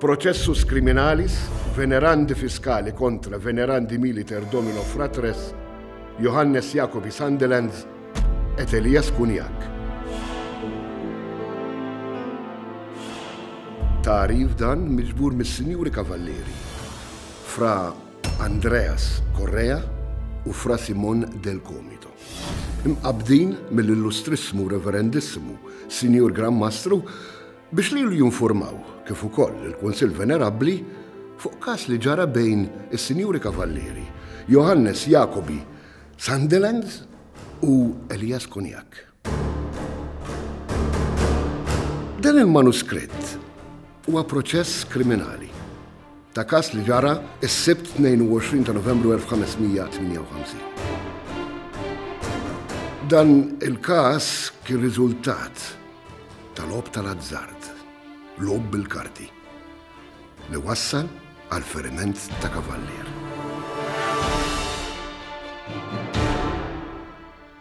Processus criminalis venerandi fiscali contra venerandi militer domino fratres Johannes Jacobi Sandelands et Elias Cuniac. Tagħrif dan miġbur mis-Sinjuri Kavallieri, Fra Andreas Correa u Fra Simon del Comito. Imqabbdin mill-Illustrissimu Reverendissimu Sinjur Gran Mastru biex lilu jinfurmaw, kif ukoll lill-Kunsill Venerabbli, fuq każ li ġara bejn is-Sinjuri Kavallieri Johannes Jacobi Sandelands u Elias Cognac. Dan il-manuskritt huwa proċess kriminali ta' każ li ġara s-Sibt 22 ta' Novembru 1558. Dan il-każ kien riżultat ta' logħob tal-azzard, logħob bil-karti, li wassal għall-feriment ta' kavallier.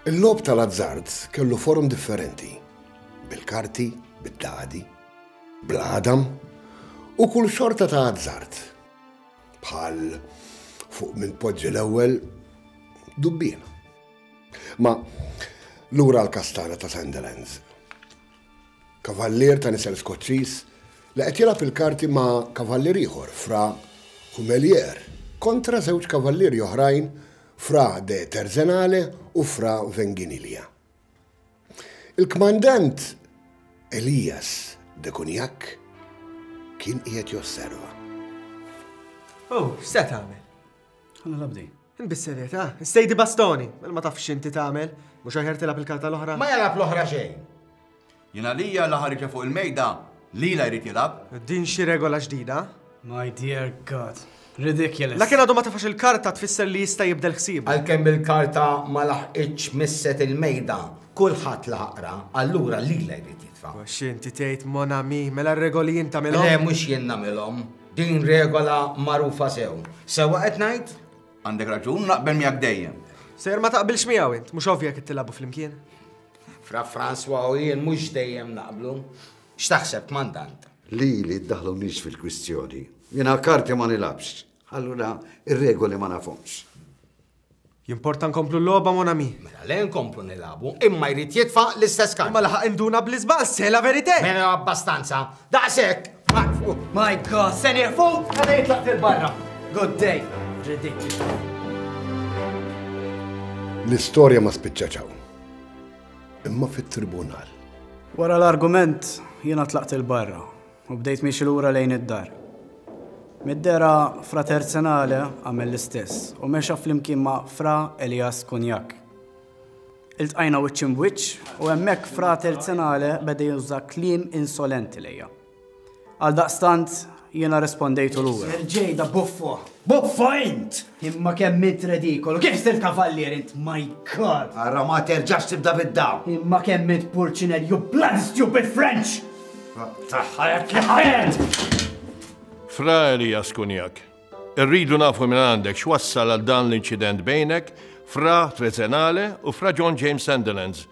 Il-logħob tal-azzard kellu forom differenti, bil-karti, bid-dadi, bl-għadam u kull xorta ta' azzard, bħal fuq min tpoġġi l-ewwel dubbiena. Ma lura għall-kastana ta' Sandilands. Kavallier ta' nisel Skoċċiż li qed jilgħab il-karti ma' kavallier ieħor, Fra Humelier, kontra żewġ kavallieri oħrajn, Fra de Terzenale u Fra Venginilja. Il-kmandant Elias de Cognac kien qiegħed josserva. Oh, x'se tagħmel? Ħa nilgħab din. Bis-serjetà, sejdi bastoni, mela ma tafx x'inti tagħmel, mhux aħjar tilgħab il-karta l-oħra? Ma jilgħab l-oħra xejn. Jien għalija la ħariġha fuq il-mejda, lilha jrid jilgħab. Din xi regola ġdida? My dear God. Ridiculous. La kien għadu ma tefax il-karta tfisser li jista' jibdel ħsiebu. Għalkemm il-karta ma laħqitx misset il-mejda, kulħadd laħaq qra, allura lilha jrid jitfa'. X'inti tgħid mon ami, mela r-regoli jien tagħmilhom? Le mhux jien nagħmilhom. Din regola magħrufa sew. Sewwa qed ngħid? Għandek raġun, naqbel miegħek dejjem. Sejjer ma taqbilx miegħu int, mhux ovvja jekk tilagħbu flimkien. Fra François u jien mhux dejjem naqblu. X'taħseb, kmandant? Lili ddaħħlunix fil-kwistjoni. Jiena karti ma nilgħabx. Allura ir-regoli ma nafhomx. Jimporta nkomplu l-logħba, mon ami. Mela le nkomplu nilagħbu, imma jrid jitfa' l-istess karta. Imma laħaq induna bl-iżball, c'est la vérité! Mela abbastanza. Daqshekk! My God, se nieqfu? Għada jitlaq fil-barra. Good day. Ridiculous. L-istorja ma spiċċatx hawn. Imma fit-tribunal. Wara l-argument, jiena tlaqt 'il barra u bdejt miexi lura lejn id-dar. Mid-dehra, Fra Terzenale għamel l-istess u mexa flimkien ma' Fra Elias Cognac. Iltqajna wiċċ imb'wiċċ u hemmhekk Fra Terzenale beda juża kliem insolenti lejja. Għaldaqstant, jiena rrispondejtu lura. Sergej da buffo! Buffo int! Imma kemm int redikolu, kif sirt kavallier int, my God! Ara ma terġax tibda bid-daw. Imma kemm int purċinel, you bloody stupid French! Taħħajat li ħajat! Fra Elias Kunjak, irridu nafu minn għandek x'wassal għal dan l-inċident bejnek, Fra Trezenale u Fra John James Sandilands,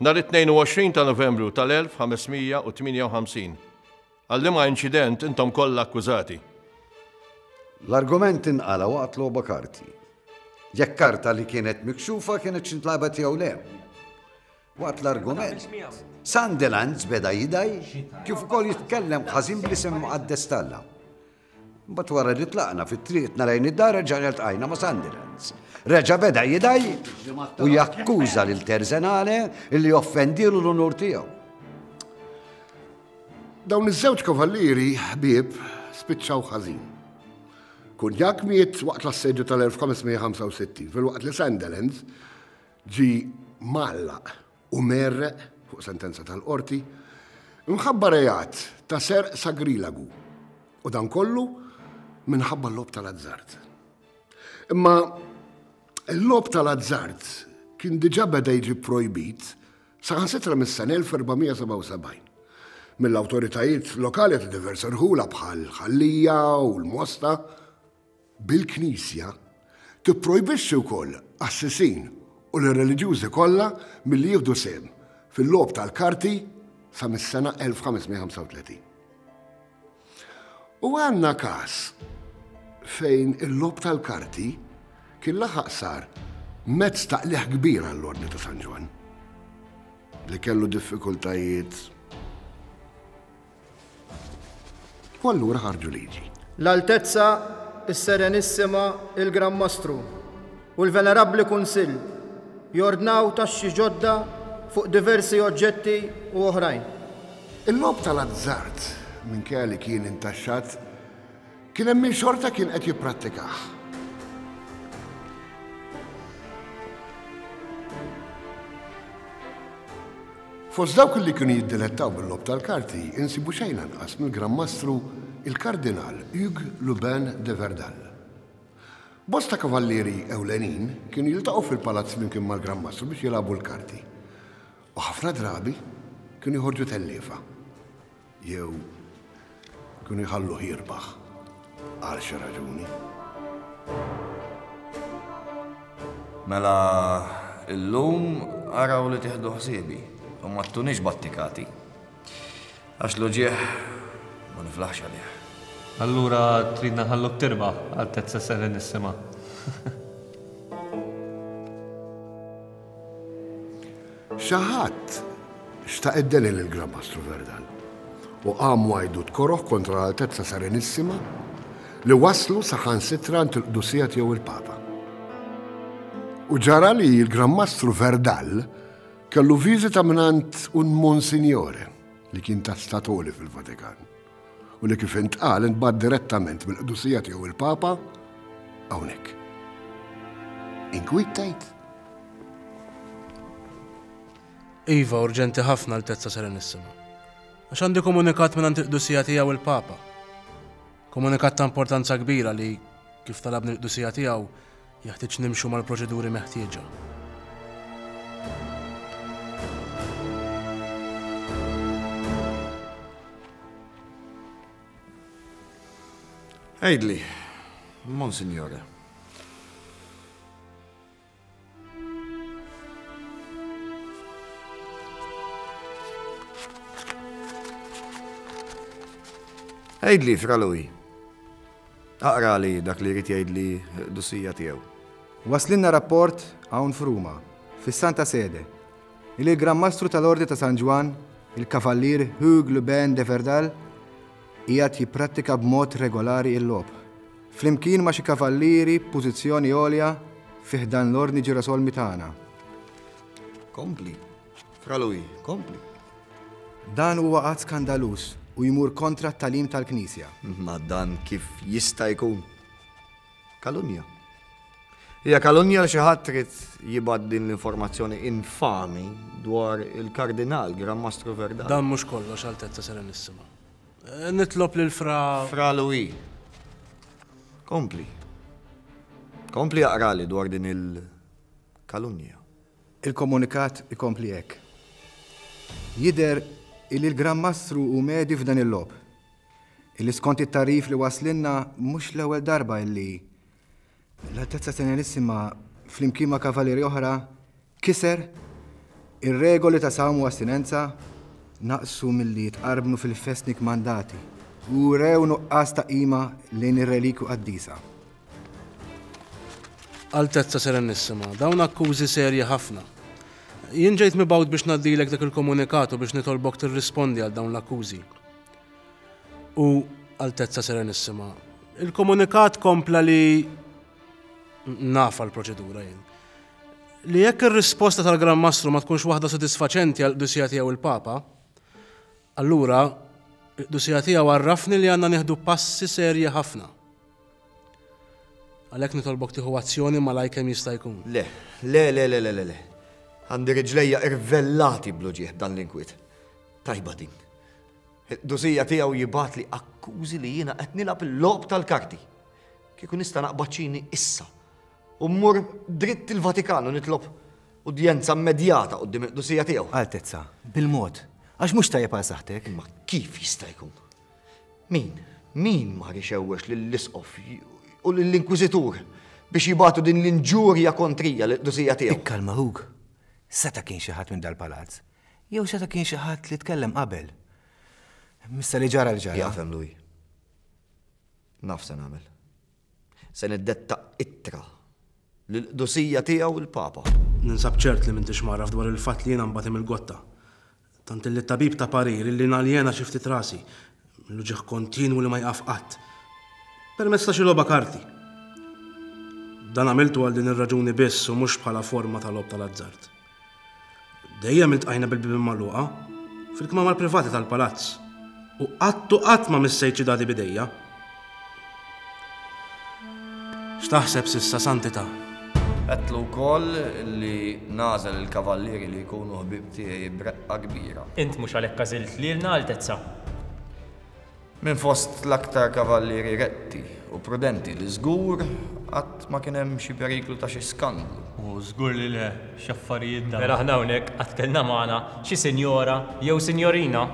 nhar it-22 ta' Novembru tal-1558. Għal liema inċident intom kollha akkużati? L-argument inqala' waqt logħba karti. Jekk karta li kienet mikxufa kinetx intlagħbet jew le. Waqt l-argument, Sandilands beda jidgħi kif ukoll jitkellem ħażin bl-isem imqaddes t'Alla. Mbagħad wara li tlaqna fi triqtna lejn id-dar reġgħna ltqajna ma' Sandilands. Reġa' beda jidgħi u jakkuża lil Terzenale li offendielu l-unur tiegħu. Dawn iż-żewġ kavallieri ħbieb spiċċaw ħażin. Kunjak miet waqt l-assedju tal-1565 filwaqt li Sandilands ġie mgħallaq u mgħerreq fuq sentenza tal-qorti mħabba reat ta' serq sagrilagu u dan kollu minħabba l-logħob tal-azzard. Imma l-logħob tal-azzard kien diġà beda jiġi projbit saħansitra mis-sena 1477 mill-awtoritajiet lokali ta' diversi rħula bħal Ħal Lija u l-Mosta bil-Knisja tipprojbixxi wkoll qassisin u lir-reliġjużi kollha milli jieħdu sehem fil-logħob tal-karti sa mis-sena 1535. U għandna każ fejn il-logħob tal-karti kien laħaq sar mezz ta' qligħ kbir għall-Ordni ta' San Ġwann, li kellu diffikultajiet u allura ħarġu liġi. L-Altezza s-Serenissima il-Gran Mastru u l-Venerabbli Kunsill jordnaw taxxi ġodda fuq diversi oġġetti u oħrajn. Il-logħob tal-azzard, minkejja li kien intaxxat, kien hemm min xorta kien qed jipprattikah. Fost dawk li kienu jiddilettaw bil-logħob tal-karti insibu xejn anqas mill-Gran Mastru il-Kardinal Hugues Lubin de Verdal. Bosta kavallieri ewlenin kienu jiltaqgħu fil-palazz flimkien mal-Gran Mastru biex jilagħbu l-karti. U ħafna drabi kienu joħorġu telliefa. Jew kienu jħalluh jirbaħ għal xi raġuni. Mela illum araw li tieħdu ħsiebi u ma ttunix battikati. Għax l-uġigħ ma niflaħx għalih. Allura tridna nħalluk tirbaħ, Altezza Serenissima. Xi ħadd xtaq id-deni lil Gran Mastru Verdal u qam għajdut koroh kontra l-Altezza Serenissima li waslu saħansitra għand il-Qdusija Tiegħu il-Papa. U ġara li l-Gran Mastru Verdal kellu viżita mingħand un Monsignore li kien ta' statoli fil-Vatikan u li kif intqal intbagħat direttament mill-Qdusija Tiegħu il-Papa hawnhekk. Inkwiet tgħid? Iva, urġenti ħafna, Altezza Serenissima. Għax għandi komunikat mingħand il-Qdusija Tiegħu il-Papa. Komunikat ta' importanza kbira li, kif talabni l-Qdusija Tiegħu, jeħtieġ nimxu mal-proċeduri meħtieġa. Għidli, Monsignore. Għidli, Fra Louis. Aqrali dak li jrid jgħidli dusija tiegħu. Waslinna rapport hawn f'Ruma, fis-Santa Sede, li l-Gran Mastru tal-Ordni ta' San Ġwann, il-Kavallier Hugues Lubin de Verdal, qiegħed jipprattika b'mod regolari l-logħob, flimkien ma' xi kavallieri b'pożizzjoni għolja fi ħdan l-Ordni Ġirosolmi tagħna. Kompli, Fra Louis, kompli. Dan huwa att skandaluż u jmur kontra t-tagħlim tal-Knisja. Ma dan kif jista' jkun? Kalunja. Hija kalunja li xi ħadd trid jibgħat din l-informazzjoni infami dwar il-Kardinal Gran Mastru Verdal. Dan mhux kollox, Altezza Serenissima. Nitlob lil Fra. Fra Louis. Kompli. Kompli aqrali dwar din il-kalunja. Il-komunikat ikompli hekk. Jidher illi l-Gran Mastru hu medju f'dan il-logħob. Illi skont it-tagħrif li waslinna mhux l-ewwel darba illi l-Altezza Serenissima flimkien ma' kavalieri oħra Kiser ir-regoli ta' sawm u astinenza, naqsu milli jitqarbnu fil-festni kmandati, u wrew nuqqas ta' qima lejn ir-relikwi qaddisa. Altezza Serenissima, dawn akkużi serji ħafna. Jien ġejt mibgħut biex ngħaddilek dak il-komunikat u biex nitolbok tirrispondi għal dawn l-akkużi. U, Altezza Serenissima, il-komunikat kompla li Nafha l-proċedura jien. Li jekk ir-risposta tal-Gran Mastru ma tkunx waħda sodisfaċenti għall-Qdusija Tiegħu il-Papa, allura l-Qdusija Tiegħu għarrafni li għandna nieħdu passi serji ħafna. Għalhekk nitolbok tieħu azzjoni malajr kemm jista' jkun. Le, le, le, le, le, le, le. Għandi riġlejja irvellati bl-uġigħ b'dan l-inkwiet. Tajba din. Il-Qdusija Tiegħu jibgħatli akkużi li jiena qed nilgħab il-logħob tal-karti. Kieku nista' naqbad ċini issa u mmur dritt il-Vatikan u nitlob udjenza immedjata quddiem il-Qdusija Tiegħu. Altezza, bil-mod, għax mhux tajjeb għal saħħtek. Imma kif jista' jkun? Min, min mar ixewwex lill-Isqof u lill-Inkwiżitur biex jibagħtu din l-inġurja kontrija lill-Qdusija Tiegħu? Ikkalma ħuk. Seta' kien xi ħadd minn dal-palazz. Jew seta' kien xi ħadd li tkellem qabel. Missa li ġara li ġara. Jafhem, Louis. Naf se nagħmel. Se niddetta ittra lill-Qdusija Tiegħu l-Papa. Ninsab ċert li m'intix mgħarraf dwar il-fatt li jiena nbati mill-gotta. Tant illi t-tabib ta parir illi naljena xi ftit rasi, mill-uġigħ kontinwu li ma jqaf qatt, permezz ta' xi logħba karti. Dan għamiltu għal din ir-raġuni biss u mhux bħala forma ta' logħob tal-azzard. Dejjem iltqajna bil-bibien magħluqa, fil-kmamar privati tal-palazz, u qatt u qatt ma missejt xi dadi b'idejja. X'taħseb s'issa, Santità? Għedtlu wkoll li nagħżel il-kavallieri li jkunu ħbieb tiegħi b'reqqa kbira. Int mhux għalhekk għażilt lilna, Altezza? Minn fost l-aktar kavallieri retti u prudenti li żgur qatt ma kien hemm xi periklu ta' xi skandlu. U żgur li le, x'affarijiet dawn. Mela aħna hawnhekk qatt kellna magħna xi sinjora jew sinjorina?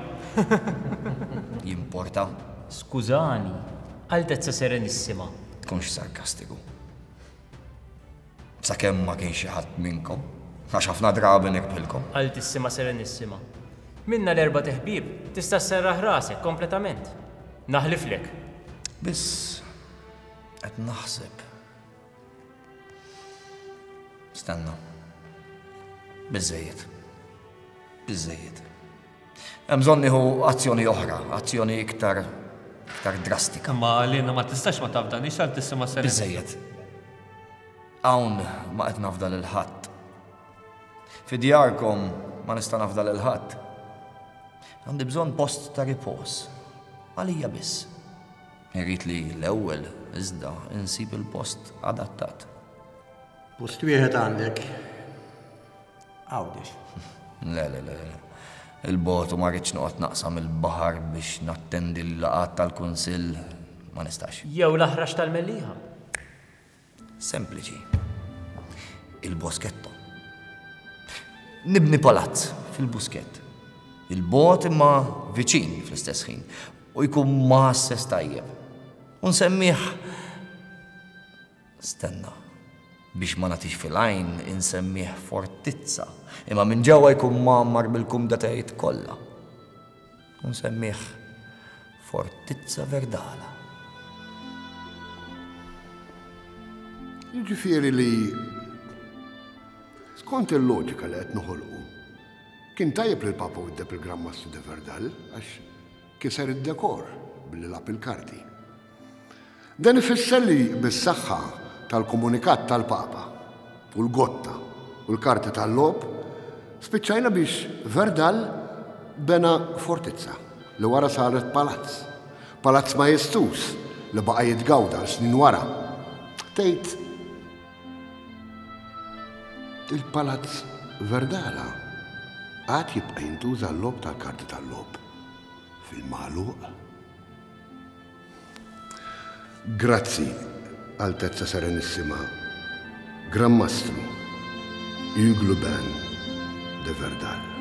Jimporta? Skużani, Altezza Serenissima. Tkunx sarkastiku. Sakemm ma kienx xi ħadd minnkom, għax ħafna drabi nirbħilkom. Altissima Serenissima, minna l-erbat iħbieb tista' sserraħ rasek kompletament. Naħliflek. Biss qed naħseb. Stenna. Biżżejjed. Biżżejjed. Hemm bżonn nieħu azzjoni oħra, azzjoni iktar iktar drastika. Imma għalina ma tistax ma tafdanix Altissima Serenissima. Biżżejjed. Hawn ma qed nafda lil ħadd. Fi djarkom ma nista' nafda lil ħadd. Għandi bżonn post ta' ripoż. Għalija biss. Irrid li l-ewwel iżda insib il-post adattat. Post wieħed għandek. Għawdex. Le, le, le, le. Il-bogħod u ma rridx noqgħod naqsam il-baħar biex nattendi l-laqgħat tal-kunsill ma nistax. Jew l-aħrax tal-Mellieħa. Sempliċi. Il-Boschetto. Nibni palazz fil-Buskett. Il-bogħod imma viċin fl-istess ħin u jkun mgħasses tajjeb. U nsemmih Stenna. Biex ma nagħtix fil-għajn insemmih fortizza, imma minn ġewwa jkun mgħammar bil-kumdatajiet kollha. U nsemmih Fortizza Verdala. Jiġifieri li skont il-loġika li qed noħolqu, kien tajjeb li l-Papa widdeb il-Gran Mastru de Verdal għax kiser id-dekor billi lagħab il-karti. Dan ifisser li bis-saħħa tal-komunikat tal-Papa u l-gotta u l-karti tal-logħob, spiċċajna biex Verdal bena fortizza li wara saret palazz. Palazz majestuż li baqa' jitgawda għal snin wara. Tgħid il-Palazz Verdala għad jibqa' jintuża għal-logħob tal-karti tal-logħob fil-magħluq? Grazzi, Altezza Serenissima, Gran Mastru Hugues Lubin de Verdal.